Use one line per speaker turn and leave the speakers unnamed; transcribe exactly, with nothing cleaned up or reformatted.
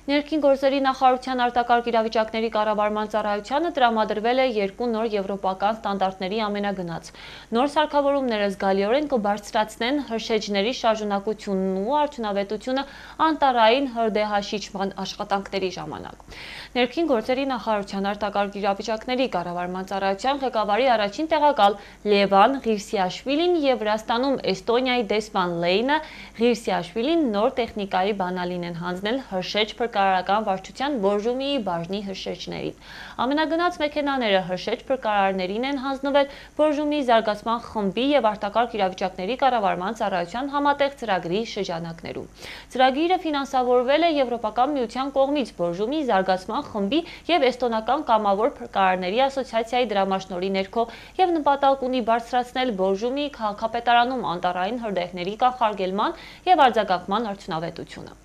Ներքին գործերի նախարարության արտակարգ իրավիճակների կառավարման ծառայությանը տրամադրվել է երկու նոր եվրոպական ստանդարտների ամենագնաց։ Նոր սարքավորումները զգալիորեն կբարձրացնեն հրշեջների շարժունակությունն ու արդյունավետությունը անտառային հրդեհաշիջման աշխատանքների ժամանակ։ Ներքին գործերի նախարարության արտակարգ իրավիճակների կառավարման ծառայության ղեկավարի առաջին տեղակալ Լևան Ղիրսիաշվիլին և Վրաստանում Էստոնիայի դեսպան Լեյնա Ղիրսիաշվիլին նոր տեխնիկայի բանալին են հանձնել հրշեջ փրկարարական վարչության Բորժոմիի բաժնի հրշեջներին։ Ամենագնաց մեքենաները հրշեջ փրկարարներին են հանձնվել Բորժոմիի զարգացման խմբի և արտակարգ իրավիճակների կառավարման ծառայության համատեղ ծրագրի շրջանակներում։ Ծրագիրը ֆինանսավորվել է Եվրոպական միության կողմից Բորժոմիի զարգացման խմբի և Էստոնական կամավոր փրկարարների ասոցիացիայի դրամաշնորհի ներքո և նպատակ ունի բարձրացնել Բորժոմիի քաղաքապետարանում անտառային հրդեհների կանխարգելման և արձագանքման արդյունավետությունը։